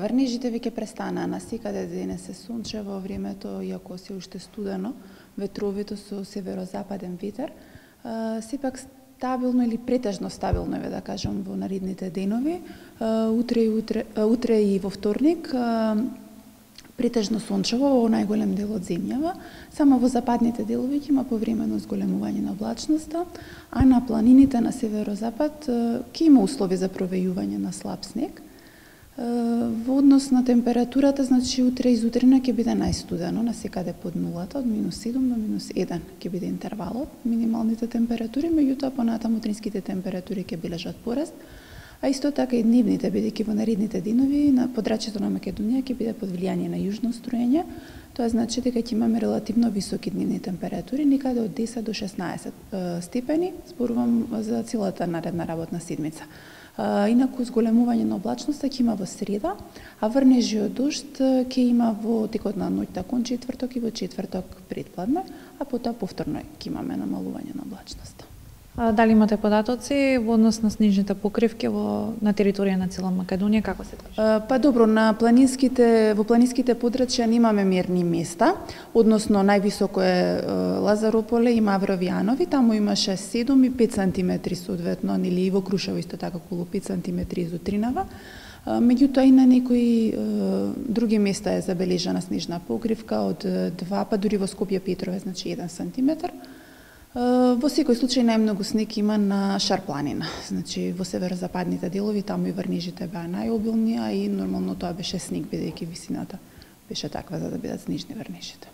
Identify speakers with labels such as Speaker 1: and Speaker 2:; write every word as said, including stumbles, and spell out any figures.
Speaker 1: Врнежите веќе престанаа, насекаде денес е сончево во времето, иако се уште студено, ветровито со северозападен ветер. Сепак стабилно или претежно стабилно е, да кажам, во наредните денови. Утре и, утре, утре и во вторник претежно сончево во најголем дел од земјава. Само во западните делови ќе има повремено зголемување на облачноста, а на планините на северозапад ќе има услови за провејување на слаб снег. Во однос на температурата, значи утре и зутрина ќе биде најстудено, насекаде под нулата, од минус седум до минус еден ќе биде интервалот, минималните температури, меѓутоа понатаму утринските температури ќе бележат пораст, а исто така и дневните, бидејќи во наредните денови на подрачјето на Македонија ќе биде под влијание на јужно струење, тоа значи дека ќе имаме релативно високи дневни температури, некаде од десет до шеснаесет степени, зборувам за целата наредна работна седмица. Инаку зголемување на облачноста ќе има во среда, а врнежи од дожд ќе има во текот на ноќта кон четврток и во четврток предпладне, а потоа повторно ќе имаме намалување на облачноста.
Speaker 2: А, дали имате податоци во однос на снежните покривки во на територија на цела Македонија, како се тоа?
Speaker 1: Па добро, на планинските во планинските подрачја немаме мерни места, односно највисоко е Лазарополе и Мавровјанови, таму имаше седум и пет сантиметри соодветно, нели и во Крушево исто така околу пет сантиметри изутринава. Меѓутоа и на некои други места е забележана снежна покривка од два, па дури во Скопје Петрове, значи еден сантиметар. Во секој случај најмногу снег има на Шар планина, значи во северозападните делови, таму и врнежите беа најобилни, а и нормално тоа беше снег, бидејќи висината беше таква за да бидат снежни врнежите.